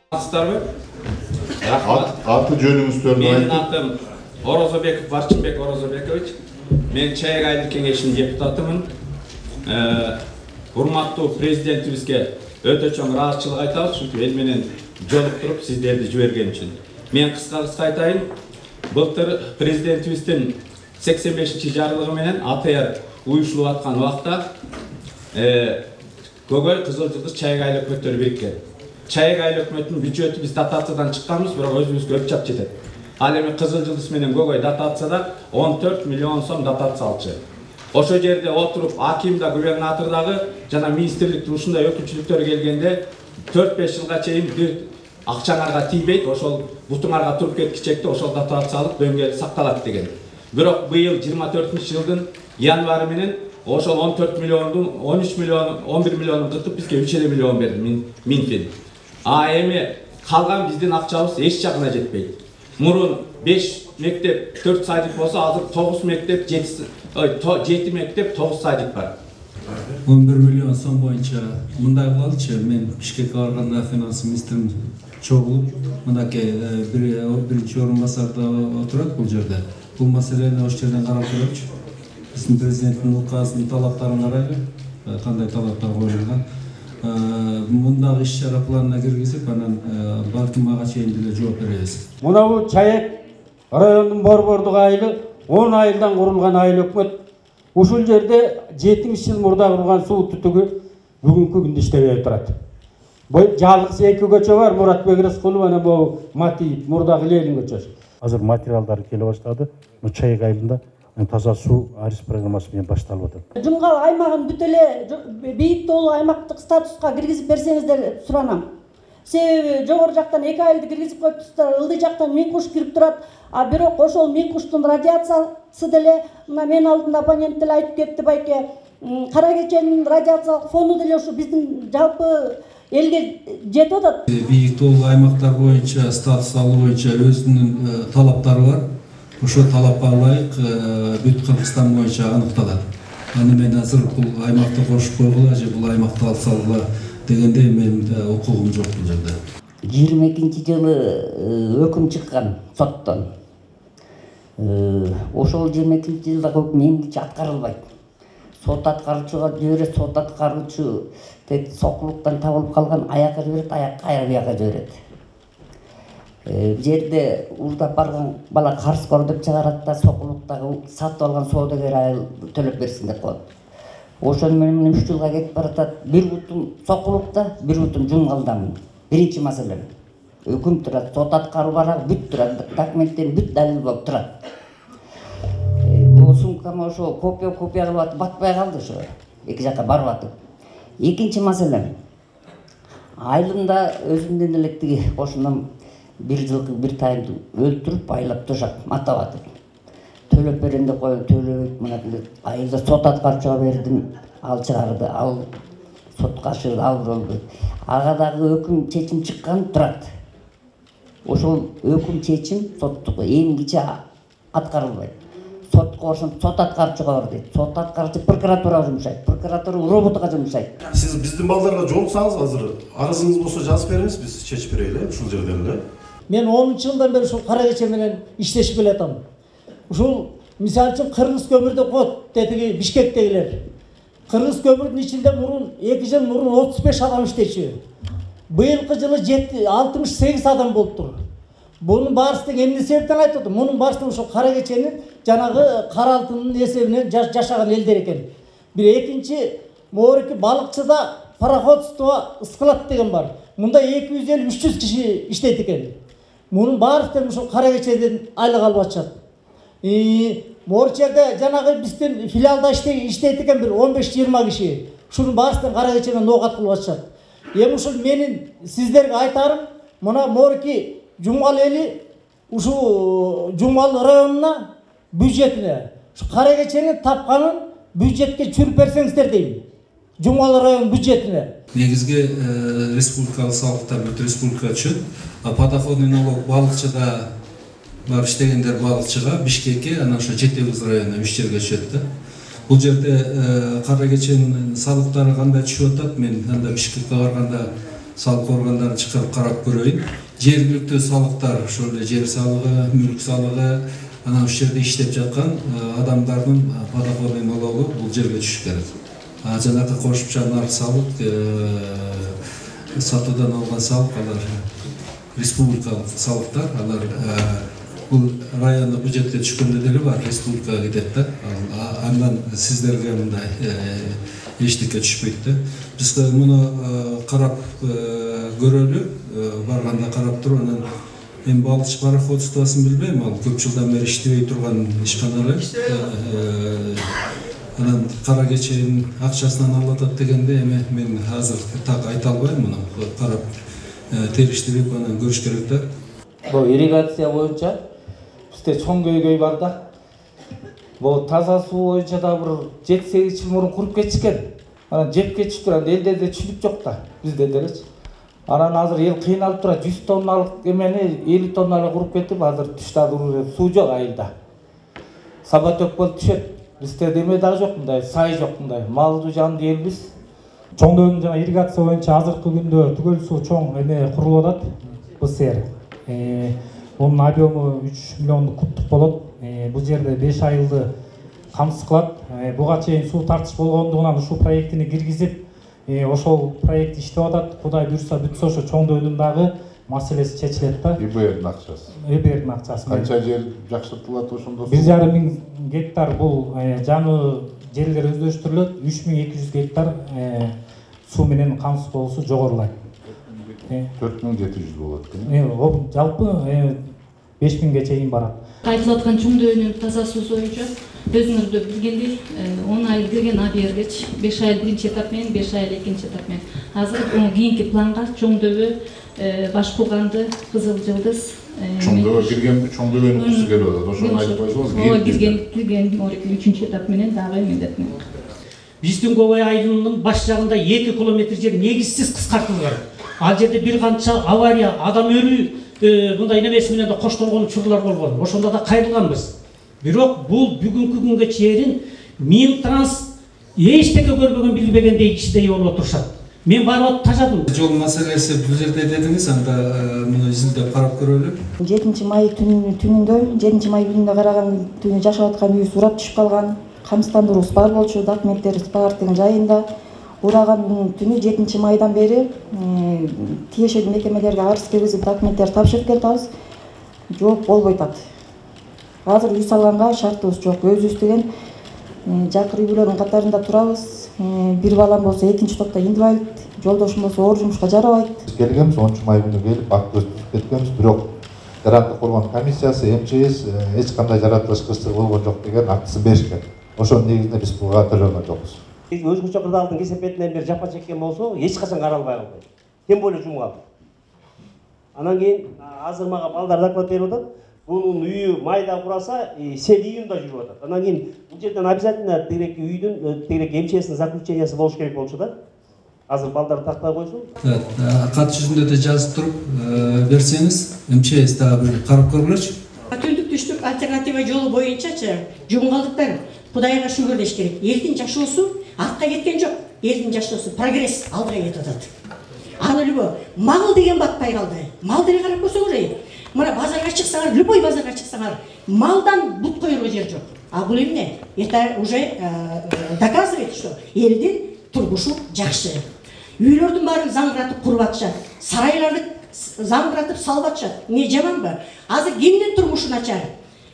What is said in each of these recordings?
Саламатсыздарбы? Аты жөнүңүздөрдү Менин атым Орозобеков Барчынбек Орозобекович. Мен Чайык айылдык кеңешинин депутатымын. Урматтуу президентибизге өтө чоң ыраазычылык айтабыз, чүнкү эл менен жолуктуруп сиздерди жиберген үчүн. Мен кыска айтайын. Былтыр президентибиздин 85-чи жарлыгы менен АТР уюштурулуп аткан убакта Көкөй, Кызыл Жылдыз, Чайык айыл өкмөттөрү бириккен. Чайык айыл өкмөтүнүн бюджети биз дотациядан чыкканбыз, бирок өзүбүзгө өп чап жетет. Ал эми Кызыл Жылдыз менен Көкөй дотацияда 14 миллион сом дотация алчу. Ошо жерде отуруп аким да, губернатор дагы жана министрликтин ушундай өкүлчүлүктөрү келгенде 4-5 жылга чейин бир акчаңарга тийбейт, ошол бутуңарга туруп кеткичекте ошол дотациялык дөңгел сакталат деген. Бирок быйыл 24-жылдын январы менен ошол 14 миллиондун 13 миллион 11 миллионун кытып бизге 3 миллион берди Минфин. Эми калган биздин акчабыз эч жагына жетпейт. Мурун 5 мектеп 4 садик болсо, азыр 9 мектеп 7 мектеп 9 садик бар. 11 миллион сом боюнча мындай кылалычы, мен Бишкекке барганда финанс министрим чогулуп, мынакей биринчи орун басарда отурат бул жерде. Бул маселени ошол жерден карап көрөчү. Биздин президенттин указынын талаптарын карайлы, кандай талаптар коюлган. Мындагы иш-чара планына киргизип, анан балким ага чейин деле жооп беребиз. Мынабу Чайык районунун борбордук айылы 10 айылдан курулган айыл өкмөт. Ушул жерде 70 жыл мурда курулган суу түтүгү бүгүнкү күндө иштебей турат. Бул жалгыз эки көчө бар, Муратбек Рыскулов, анан бул Матиев, мурдагы Ленин көчөсү. Азыр материалдар келе баштады. Чайык айылында таза суу арис программасы менен башталып атат. Жумгал аймагын бүт эле бийик тоолуу аймактык статуска киргизип берсеңиздер деп суранам. Себеби жогору жактан эки айылды киргизип коюптур, ылдый жактан миң куш кирип турат. Бирок ошол миң куштун радиациясы деле мына мен алдымда оппонент деле айтып кетти байке. Кара кеченин радиациялык фону деле ушу биздин жалпы элге жетип атат. Бийик тоолуу аймактар боюнча статус алуу боюнча өзүнүн талаптары бар. Ошо талапка ылайык бүт Кыргызстан боюнча аныкталат. Аны мен азыр бул аймакты кошуп койгула же бул аймакты алсагыла дегенде мен укугум жок бул жерде. 22-жылы өкүм чыккан соттон. Ошол 22-жылда өкүм эмгиче аткарылбайт. Сот аткаруучуга жиберет, сот аткаруучу тек сокулуктан табылып калган аякка жиберет, аяк кайра бияка жиберет. Жерде уурдап барган бала карызкор деп чыгарат да, сокулуктагы сатып алган соодагер айыл төлөп берсин деп коет. Ошону менен 3 жылга кетип баратат. Бир бутум сокулукта, бир бутум жумгалдамын. Биринчи маселе. Өкүм турат, сот аткаруу барак бүт турат, документтер бүт далил болуп турат. Бул сумкама ошо копия кылып атып батпай калды ошо. Эки жакка барып атып. Экинчи маселе. Айылымда өзүмдөн эле тиги кошунам бир жылкы бир тайымды өлтүрүп айлап тошап матап атып. Төлөп берем деп коюп төлөбөйт, мына айылда сот аткаруучуга бердим, ал чыгарды, ал сотко ашырды, ал болбойт. Ага дагы өкүм чечим чыккан турат. Ошол өкүм чечим соттук эмгиче аткарылбайт. Сотко ошентип сот аткаруучуга бар дейт. Сот аткаруучу прокуратурага жумшайт, прокуратура роботуга жумшайт. Сиз биздин балдарга жолуксаңыз азыр арызыңыз болсо жазып бериңиз, биз чечип берели ушул жерден эле. Мен 10-жылдан бери ушул кара кече менен иштешип келатам. Ушул мисалы үчүн Кыргыз көмүрдө кот дедиги Бишкектегилер. Кыргыз көмүрдүн ичинде мурун 2 жыл мурун 35 адам иштечү. Быйылкы жылы 68 адам болуптур. Бунун баарысы эмне себептен айтып атам? Мунун баарысы ушул кара кеченин жанагы кара алтындын эсебинен жашаган элдер экен. Бир экинчи моорики балыкчыда пароходство Скалат деген бар. Мында 250-300 киши иштейт экен. Мунун баарысы ушул кара кечеден айлык алып атышат. Морчерде жанагы биздин филиалда иштейт экен бир 15-20 киши. Ушунун баарысы кара кечеден ноогат кылып атышат. Эми ушул менин сиздерге айтарым, мына морки Жумгал эли ушу Жумгал районуна бюджетине ушу кара кеченин тапканын бюджетке чүрүп берсеңиздер дейм. Жумгал район бюджетине. Негизги республикалык салыктар бүт республикага түшөт. Подоходный налог балыкчыда бар иштегендер балыкчыга, Бишкекке, анан ошо Жетегиз районуна 3 жерге түшөт да. Бул жерде кара кеченин салыктары кандай түшүп атат? Мен анда Бишкекке барганда салык органдарын чыгарып карап көрөйүн. Жергиликтүү салыктар, ошол эле жер салыгы, мүлк салыгы, анан ушул жерде иштеп жаткан адамдардын подоходный налогу бул жерге түшүш керек. Жанагы кошумча нарк салык, сатуудан алган салык, алар республикалык салыктар, алар бул райондук бюджетке түшкөндө деле бар, республикага кетет да. Андан сиздерге мындай эчтеке түшпөйт да. Биз муну карап көрөлү, барганда карап туруп, анан мен балыч пароходствосын билбейм, ал көп жылдан бери иштебей турган ишкана эле. Анан кара кеченин акчасынан алып атат дегенде эми мен азыр так айта албайм, муну карап териштирип анан көрүш керек да. Бул ирригация боюнча бизде чоң көйгөй бар да. Бул таза суу боюнча да бир 7-8 жыл мурун куруп кетишкен. Анан жеп кетишиптир, анан элдерде түшүнүк жок да, бизде делечи. Анан азыр эл кыйналып турат, 100 тонналык эмени 50 тоннага куруп кетип, азыр түштө суу жок айылда. Сабатөк болуп түшөт. Бизде деме дагы жок, мындай сай жок, мындай малдуу жанды элбиз. Чоңдойдун жана ирригация боюнча азыркы күндө түгөл суу чоң эме курулуп атат. БСР. Онун объему 3 миллиондук кубтук болот. Бул жерде 5 айылды камсыз кылат. Буга чейин суу тартыш болгондугунан ушул проектини киргизип, ошол проект иштеп атат. Кудай буйрса бүтсө ошо чоңдойдун дагы маселеси чечилет да. ИБРдин акчасы. ИБРдин акчасы. Канча жер жакшыртылат ошондо? 1,5 миң гектар бул жаңы жерлер өздөштүрүлөт. 3200 гектар суу менен камсыз болуусу жогорулайт. 4700 болот экен. Жалпы 5000ге чейин барат. Айтылып аткан чоңдойдун таза суу боюнча өзүңөр да билгендей 10 ай кирген АБРГеч 5 ай биринчи этап менен 5 ай экинчи этап менен. Азыр кийинки планга чоңдөбө, Башкулганды, Кызыл Жылдыз чоңдөбө кирген, чоңдөбөнүн кызы келип атат. Ошону айтып койсоңуз. Ооба, кирген 3-үчүнчү этап менен дагы мендет менен. Биздин Кобой айылынын баш жагында 2 километр жер негизсиз кыскартылган. Ал жерде бир канча авария, адам өлүү мындай немеси менен да коштолгон учурлар болгон. Ошондо да кайрылганбыз. Бирок бул бүгүнкү күнгө чейин Минтранс эчтеке көрбөгөн билбегендей иштей болуп отурушат. Мен барып тажадым. Жол маселеси бул жерде дедиңиз, анда муну изилдеп карап көрөлү. 7 май түнүндө, 7 май күнүндө караган түнү жашап аткан үйү сурап түшүп калган. Камсыздандыруубуз бар болчу, документтерибиз бар деген жайында. Ураган түнү 7 майдан бери тиешелүү мекемелерге арыз киргизип документтер тапшырып келатабыз. Жооп болбой атат. Азыр үй салганга шартыбыз жок. Өзүбүз деген жакыр үйлөрдүн катарында турабыз. Бир балам болсо экинчи топто инвалид, жолдошум болсо оор жумушка жарабайт. Келгенбиз 10 май күнү келип акт түзүп кеткенбиз, бирок Жарандык коргоо комиссиясы, МЧС эч кандай жаратылышкычтыгы болгон жок деген актысын беришкен. Ошонун негизинде биз буга төлөгөн жокпуз. Биз өзгөчө кырдаалдын кесепетинен бери жапа чеккен болсо, эч качан каралбай калбайт. Тем более жумгал. Анан кийин азыр мага балдар доклад берип атат. Бунун үйү майда кураса, сел июнда жүрүп атат. Анан кийин бул жерден обязательно тегереки үйдүн, тегереки МЧСтин заключениясы болуш керек болчу да. Азыр балдар тактай койсун. Кат жүзүндө да жазып туруп берсеңиз, МЧС дагы бир карап көргүлөчү. Түндүк түштүк альтернатива жолу боюнчачы жумгалдыктар Кудайга шүгүр деш керек. Элдин жашоосу артка кеткен жок. Элдин жашоосу прогресс алдыга кетип атат. Аны любой мал деген батпай калды. Мал деле карап көрсөңөр. Мына базарга чыксаңар, любой базарга чыксаңар, малдан бут коерго жер жок. А бул эмне? Это уже доказывает, что элдин турмушу жакшы. Үйлөрдүн баарын заңгыратып куруп атышат. Сарайларды заңгыратып салып атышат. Не жаманбы? Азыр кимдин турмушу начар?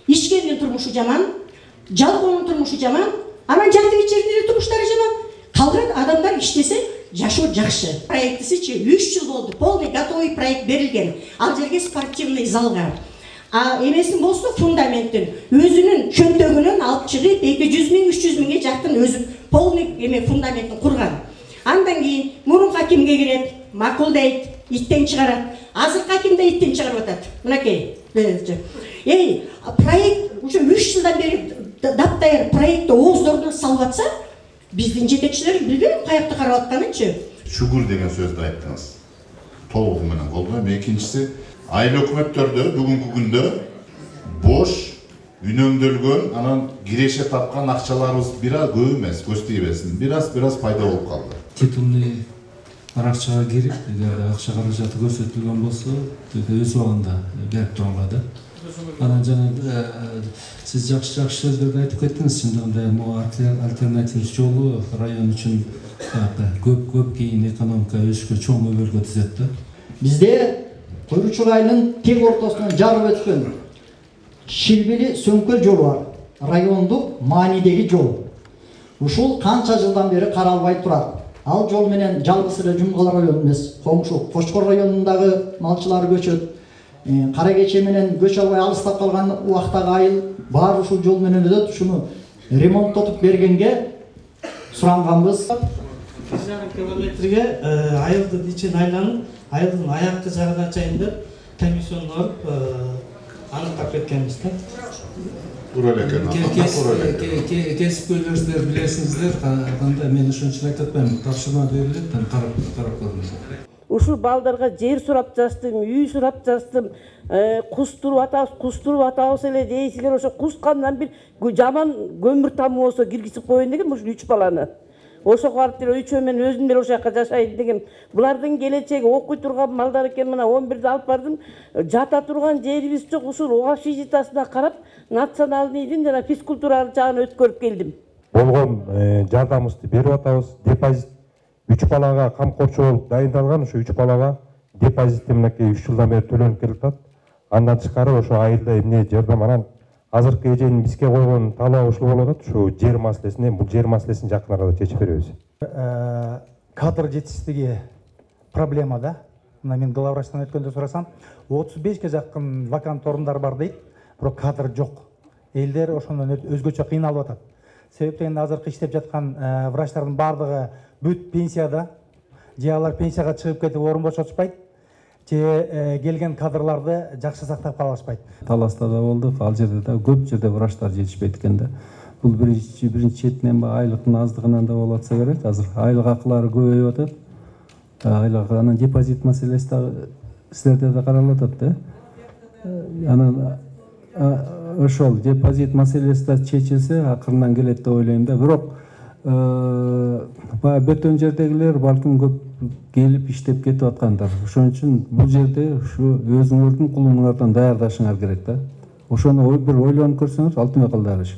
Ичкендин турмушу жаман, жалгоонун турмушу жаман, анан жанды ичердин турмуштары жаман. Калган адамдар иштесе жашоо жакшы. Проектисичи 3 жыл болду. Полный готовый проект берилген. Ал жерге спортивный залга. А эмесин болсо фундаменттин өзүнүн чөнтөгүнөн алып чыгып 200 миң 300 миңге жакын өзү полный эме фундаментин курган. Андан кийин мурунку акимге кирет, макулдайт, иттен чыгарат. Азыркы аким да иттен чыгарып атат. Мынакей. Проект уже 3 жылдан бери даптайыр проектти ооздордон салып атса, биздин жетекчилер билбейм каякта карап атканынчы. Шүгүр деген сөздү айттыңыз. Толугу менен колдойм. Экинчиси, айыл өкмөттөрдө бүгүнкү күндө бош үнөмдөлгөн, анан киреше тапкан акчаларыбыз бир аз көп эмес, көз тийбесин. Бир аз пайда болуп калды. Титулный аракчага кирип, эгер акча каражаты көрсөтүлгөн болсо, өз убагында берип турганга да. Анан жана сиз жакшы сөздөрдү айтып кеттиңиз. Чындыгында могу альтернатив жолу район үчүн көп кийин экономика өсүшкө чоң өбөлгө түзөт да. Бизде Куйручук айылынын тең ортосунан жарып өткөн Шилбили Сөңкөл жолу бар. Райондук маанидеги жол. Ушул канча жылдан бери каралбай турат. Ал жол менен жалгыз эле Жумгал району эмес, коңшу Кочкор районундагы малчылар көчөт. Каракече менен көчө албай алыстап калган убактагы айыл баары ушул жол менен өтөт. Ушуну ремонттотуп бергенге суранганбыз. 1,5 километрге айылды ичин айланып, айылдын аяккы жагына чейин деп комиссияны алып аныктап кеткенбиз да. Кесипкөйлөрүңүздөр билесиңиздер, кандай мен ошончо айтып атпайм, тапшырма берилет, карап көрүңүздөр. Ушул балдарга жер сурап жастым, үй сурап жастым, кустуруп атабыз эле дейсиңер, ошо кускандан бир жаман көмүр тамы болсо киргизип коеюн дегем ушул 3 баланы. Ошо барып деле үчөө мен өзүм деле ошол жака жашайын дегем. Булардын келечеги окуй турган балдар экен, мына 11-де алып бардым. Жата турган жерибиз жок, ушул общежитиясына карап, националдын жана физкультура жагын өткөрүп келдим. Болгон жардамыбызды берип атабыз. Депозит 3 балага камкорчу болуп дайындалган, ошо 3 балага депозит мынакей 3 жылдан бери төлөнүп келип атат. Андан тышкары ошо айылда эмне жардам анан азыркы эженин бизге койгон талабы ушул болуп атат. Ошо жер маселесин, бул жер маселесин жакын арада чечип беребиз. Кадр жетишсиздиги проблема да. Мына мен главврачтан өткөндө сурасам, 35ге жакын вакант орундар бар дейт, бирок кадр жок. Элдер ошондон өзгөчө кыйналып атат. Себеп дегенде азыркы иштеп жаткан врачтардын баардыгы бүт пенсияда, же алар пенсияга чыгып кетип орун бошотушпайт, же келген кадрларды жакшы сактап калышпайт. Таласта да болдук, ал жерде да көп жерде врачтар жетишпейт экен да. Бул биринчи четинен айлыктын аздыгынан да болуп атса керек. Азыр айлык акылары көбөйүп атат. Айлык анан депозит маселеси да силерде да каралып атат да. Анан ошол депозит маселеси да чечилсе акырынан келет деп ойлойм да. Бирок баягы бөтөн жердегилер балким көп келип иштеп кетип аткандар. Ошон үчүн бул жерде ушу өзүңөрдүн кулуңардан даярдашыңар керек да. Ошону бир ойлонуп көрсөңүз алтын кылдырыш.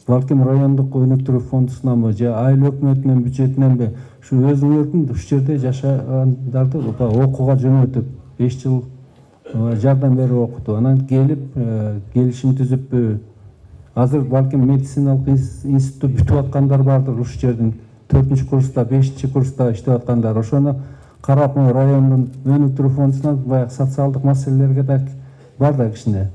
Балким райондук өнүктүрүү фондусунанбы же айыл өкмөтүнүн бюджетиненби ушу өзүңөрдүн ушул жерде жашагандарды окууга жөнөтүп 5 жыл жардам берип окутуп, анан келип келишим түзүп азыр балким медициналык институт бүтүп аткандар бардыр ушул жердин 4-курста, 5-курста иштеп аткандар. Ошону карап райондун өнүктүрүү фондусунан баягы социалдык маселелерге да бар да кичине.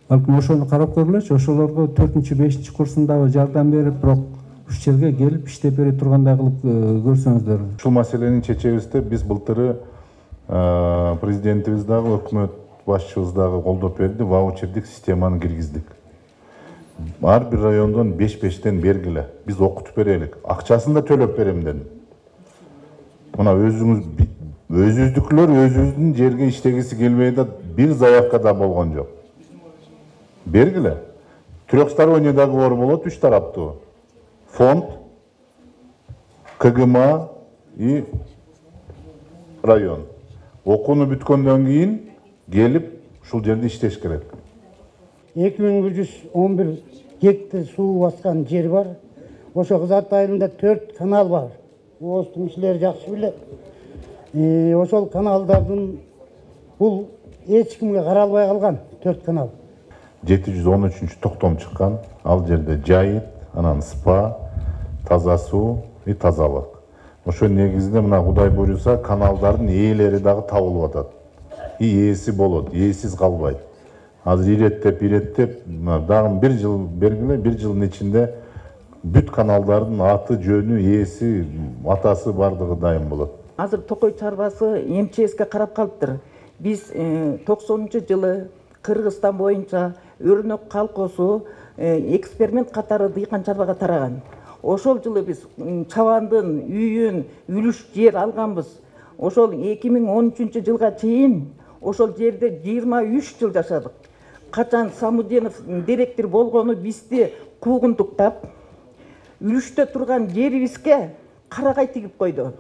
Балким ошону карап көрүлөчү, ошолорго 4-5-курсундагы жардам берип, бирок ушул жерге келип иштеп бере тургандай кылып көрсөңүздөр. Ушул маселени чечебизде биз былтыры президентибиз дагы өкмөт башчыбыз дагы колдоп берди, ваучердик системаны киргиздик. Ар бир райондон 5-5тен бергиле. Биз окутуп берелик. Акчасын да төлөп берем дедим. Мына өзүбүздүкүлөр өзүбүздүн жерге иштегиси келбей да бир заявка да болгон жок. Бергиле. Трехсторонний договор болот 3 тараптуу. Фонд, КГМА и район. Окууну бүткөндөн кийин келип ушул жерде иштеш керек. 2111 гектар суу баскан жер бар. Ошо Кызат айылында 4 канал бар. Оостун кишилери жакшы билет. Ошол каналдардын бул эч кимге каралбай калган 4 канал. 713 токтом чыккан. Ал жерде жайыт, анан спа, таза суу и тазалык. Ошо негизинде мына Кудай буйруса каналдардын ээлери дагы табылып атат. И ээси болот, ээсиз калбайт. Азыр иреттеп, дагы 1 жыл бергиле, 1 жылдын ичинде бүт каналдардын аты, жөнү, ээси, атасы бардыгы дайым болот. Азыр Токой чарбасы МЧСке карап калыптыр. Биз 90-жылы Кыргызстан боюнча Өрнөк колхозу эксперимент катары дыйкан чарбага тараган. Ошол жылы биз чабандын үйүн, үлүш жер алганбыз. Ошол 2013-жылга чейин ошол жерде 23 жыл жашадык. Качан Самуденов директор болгону бизди куугунтуктап, үлүштө турган жерибизге карагай тигип койду.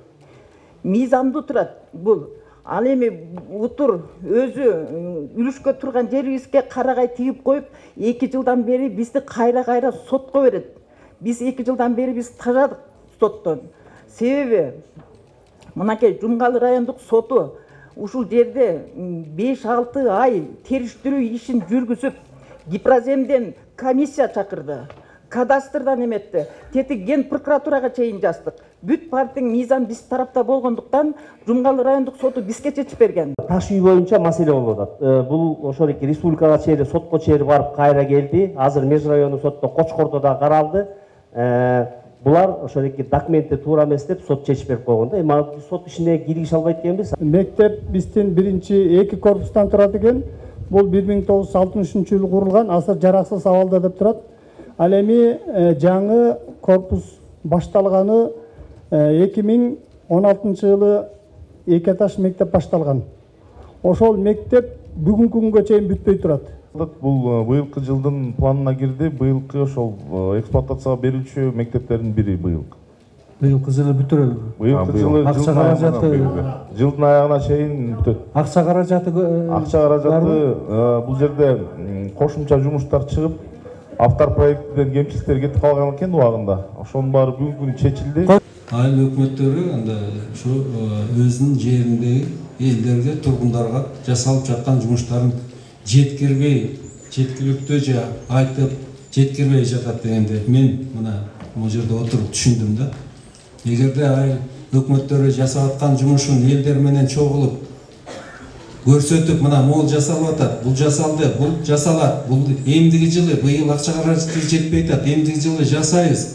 мыйзамдуу турат бул. Ал эми утур өзү үлүшкө турган жерибизге карагай тигип коюп 2 жылдан бери бизди кайра сотко берет. Биз 2 жылдан бери биз тажадык соттон. Себеби мынакей Жумгалы райондук соту ушул жерде 5-6 ай териштирүү ишин жүргүзүп, Гипроземден комиссия чакырды, кадастрдан эметти, тети ген прокуратурага чейин жаздык. Бүт партиянын мыйзам биз тарапта болгондуктан Жумгалы райондук соту бизге чечип берген. Таш үй боюнча маселе болуп атат. Бул ошол эки республикага чейин сотко чейин барып кайра келди. Азыр меж райондук сотто Кочкордо да каралды. Булар ошол эки документти туура эмес деп сот чечип берип койгон да. Эми сот ишине киргише албайт экенбиз. Мектеп биздин биринчи 2 корпустан турат экен. Бул 1963-жылы курулган, азыр жараксыз абалда деп турат. Ал эми жаңы корпус башталганы 2016-жылы 2 этаж мектеп башталган. Ошол мектеп бүгүнкү күнгө чейин бүтпөй турат. Бул быйылкы жылдын планына кирди. Быйылкы ошол эксплуатацияга берүүчү мектептердин бири быйылкы. Быйылкы жылы бүтүрөбү? Быйылкы жылы жылдын аягына чейин бүтөт. Акча каражаты бул жерде кошумча жумуштар чыгып, автор проектиден кемчиликтер кетип калган экен убагында. Ошонун баары бүгүнкү күнү чечилди. Айыл өкмөттөрү анда ушу өзүнүн жериндеги элдерге, тургундарга жасалып жаткан жумуштарын жеткиликтүү же айтып жеткирбей жатат дегенде мен мына бул жерде отуруп түшүндүм да. Эгерде айыл өкмөттөрү жасап аткан жумушун элдер менен чогулуп көрсөтүп, мына могул жасалып атат, бул жасалды, бул жасалат, бул эмдиги жылы быйыл акча каражаты жетпей атат, эмдиги жылы жасайбыз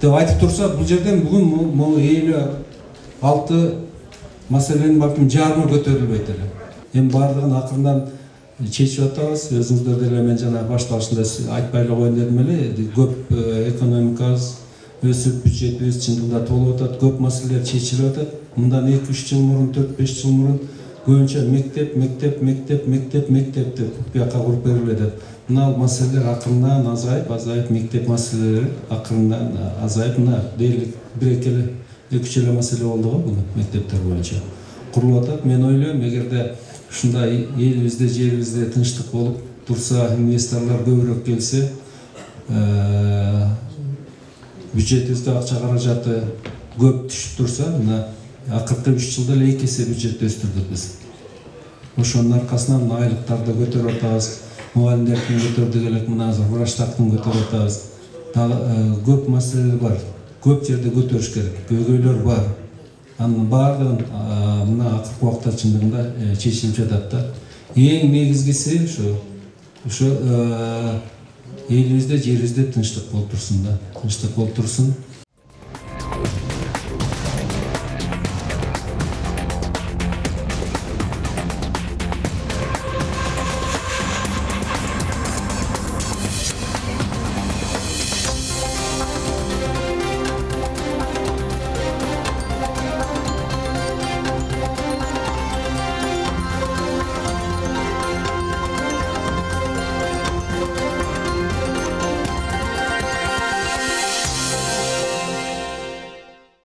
деп айтып турса, бул жерден бүгүн могу 56 маселенин балким жарымы көтөрүлбөйт эле. Эми бардыгын акырындан чечип атабыз. Өзүңүздөр деле мен жана башталышында айтпай эле коеюн дедим эле. Көп экономикабыз өсүп, бюджетибиз чындыгында толуп атат, көп маселелер чечилип атат. Мындан 2-3 жыл мурун, 4-5 жыл мурун көбүнчө мектеп деп бияка куруп бериле деп. Мына маселелер акырындан азайып, мектеп маселелери акырындан азайып, мына дээрлик 1-2 эле маселе болду го бул мектептер боюнча. Курулуп атат. Мен ойлойм, эгерде ушундай элибизде, жерибизде тынчтык болуп турса, инвесторлор көбүрөөк келсе, бюджетибизде акча каражаты көп түшүп турса, мына акыркы 3 жылда эле 2 эсе бюджетти өстүрдүк биз. Ошонун аркасынан айлыктарды көтөрүп атабыз, мугалимдердин көтөрдүк элек, мына азыр врачтардын көтөрүп атабыз. Көп маселелер бар. Көп жерде көтөрүш керек. Көйгөйлөр бар. Анын баардыгын мына акыркы убакта чындыгында чечилип жатат да. Эң негизгиси ошо элибизде, жерибизде тынчтык болуп турсун да. Тынчтык болуп турсун.